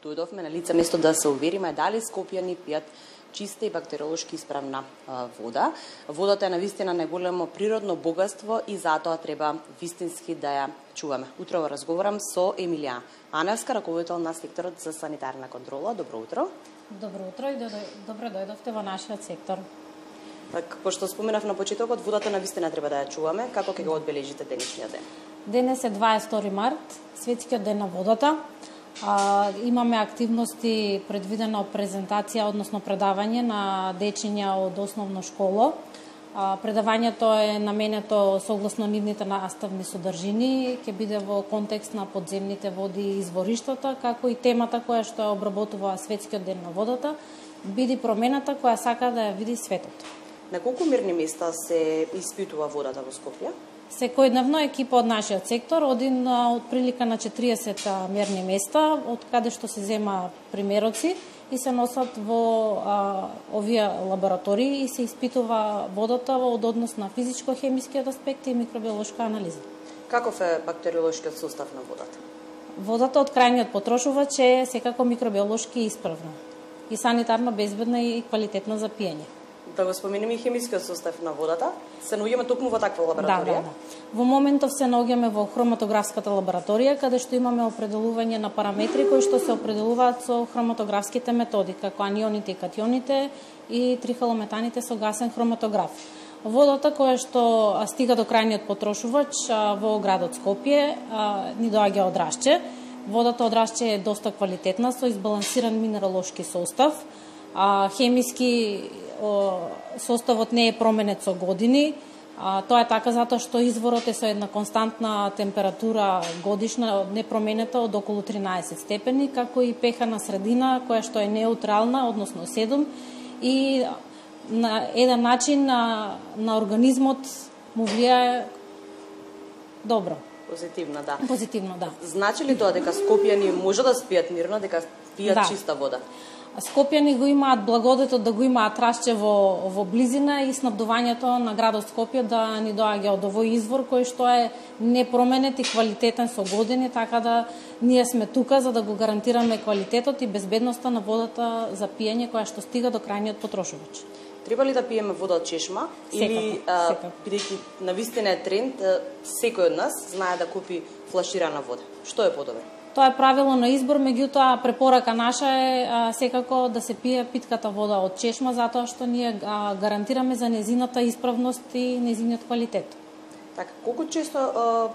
дојдовме на лице место да се увериме дали скопјани пијат чиста и бактериолошки исправна вода. Водата е навистина најголемо природно богатство и затоа треба вистински да ја чуваме. Утрово разговарам со Емилија Аневска, раководител на секторот за санитарна контрола. Добро утро. Добро утро и добро дојдовте во нашиот сектор. Како што споменав на почетокот, водата навистина треба да ја чуваме. Како ќе го одбележите денешниот ден? Денес е 22 март, светскиот ден на водата. Имаме активности предвидена презентација, односно предавање на дечиња од основно школо. Предавањето е наменето согласно нивните наставни содржини, ќе биде во контекст на подземните води и извориштата, како и темата која што ја обработува светскиот ден на водата, биде промената која сака да ја види светот. На колку мерни места се испитува водата во Скопје? Секојдневно екипа од нашиот сектор оди на отприлика на 40 мерни места, од каде што се зема примероци и се носат во овие лаборатории и се испитува водата од однос на физичко-хемискиот аспект и микробиолошка анализа. Каков е бактериолошкиот состав на водата? Водата од крајниот потрошувач е секако микробиолошки исправна и санитарно безбедна и квалитетна за пиење. Да го споменеме и хемискиот состав на водата. Се наоѓаме токму во таква лабораторија? Да. Во моментов се наоѓаме во хроматографската лабораторија, каде што имаме определување на параметри кои што се определуваат со хроматографските методи, како анионите и катионите и трихалометаните со гасен хроматограф. Водата која што стига до крајниот потрошувач во градот Скопје ни доаѓа од Рашче. Водата од Рашче е доста квалитетна, со избалансиран минералошки состав. Хемиски составот не е променет со години. Тоа е така затоа што изворот е со една константна температура годишна непроменета од околу 13 степени, како и pH на средина која што е неутрална, односно 7, и на еден начин на организмот му влијае добро. Позитивно, да. Позитивно, да. Значи ли тоа дека скопјани може да спијат мирно, дека пијат чиста вода? Скопјани го имаат благодетот да го имаат Рашче во близина и снабдувањето на градот Скопје да ни доаѓа од овој извор кој што е непроменет и квалитетен со години, така да ние сме тука за да го гарантираме квалитетот и безбедноста на водата за пиење која што стига до крајниот потрошувач. Треба ли да пиеме вода од чешма? Или, бидејќи навистина е тренд, секој од нас знае да купи флаширана вода? Што е подобро? Тоа е правило на избор, меѓутоа препорака наша е секако да се пие питката вода од чешма, затоа што ние гарантираме за незината исправност и незиниот квалитет. Така, колку често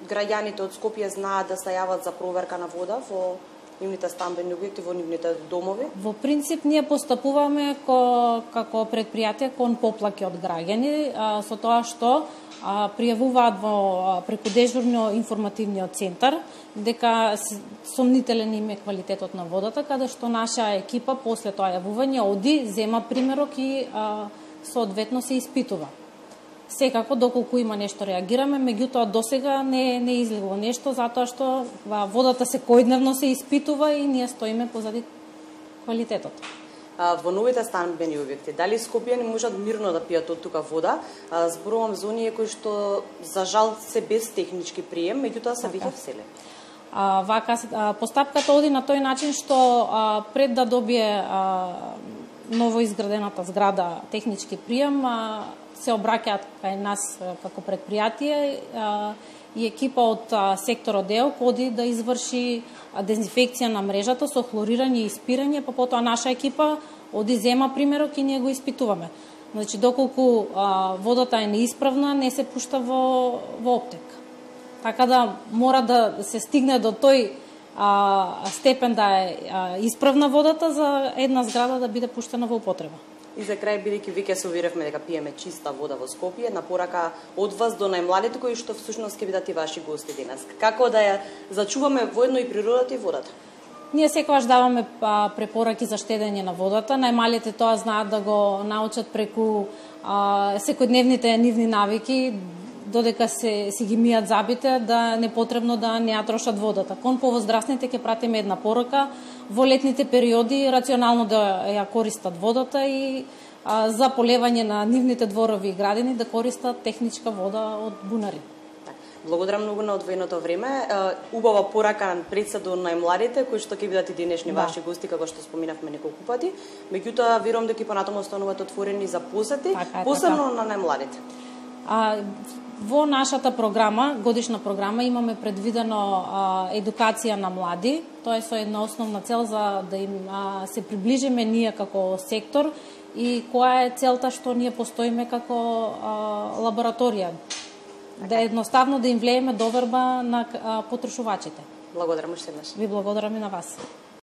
граѓаните од Скопје знаат да се јават за проверка на вода во нивните стамбени објекти, во нивните домови? Во принцип, ние постапуваме како предпријатие кон поплаки од граѓани, со тоа што пријавуваат преку дежурно информативниот центар дека сомнителен им е квалитетот на водата, каде што наша екипа после тоа јавување оди, зема примерок и соодветно се испитува. Секако доколку има нешто реагираме, меѓутоа досега не излегло нешто затоа што водата секојдневно се испитува и ние стоиме позади квалитетот. Во новите стамбени објекти, дали скопјани можат мирно да пијат од тука вода? Зборувам за оние кои што за жал се без технички прием, меѓутоа се веќе вселени. Постапката оди на тој начин што пред да добие новоизградената зграда технички прием, се обраќаат кај нас како предпријатие и екипа од секторот ДЕОК оди да изврши дезинфекција на мрежата со хлорирање и испирање, па потоа наша екипа оди зема примерок и ние го испитуваме. Значи, доколку водата е неисправна, не се пушта во оптек. Така да мора да се стигне до тој степен да е исправна водата за една зграда да биде пуштена во употреба. И за крај, бидејќи веќе се уверевме дека пиеме чиста вода во Скопје, на порака од вас до најмладите кои што всушност ќе бидат и ваши гости денес. Како да ја зачуваме воедно и природата и водата? Ние секогаш даваме препораки за штедење на водата. Најмалите тоа знаат да го научат преку секојдневните нивни навики, додека си ги мијат забите, да не потребно да не ја трошат водата. Кон повозрастните ќе пратиме една порака во летните периоди рационално да ја користат водата и за полевање на нивните дворови и градини да користат техничка вода од бунари. Благодарам многу на одвоеното време. Убава порака пред се до најмладите, кои што ќе бидат и денешни ваши гости, како што споминавме неколку пати. Меѓутоа, верувам дека и понатаму остануваат отворени за посети, посебно на најмладите. Во нашата програма, годишна програма, имаме предвидено едукација на млади. Тоа е со една основна цел за да им се приближиме ние како сектор и која е целта што ние постоиме како лабораторија. Да едноставно да им влееме доверба на потрошувачите. Благодарам уште еднаш. Ви благодарам и на вас.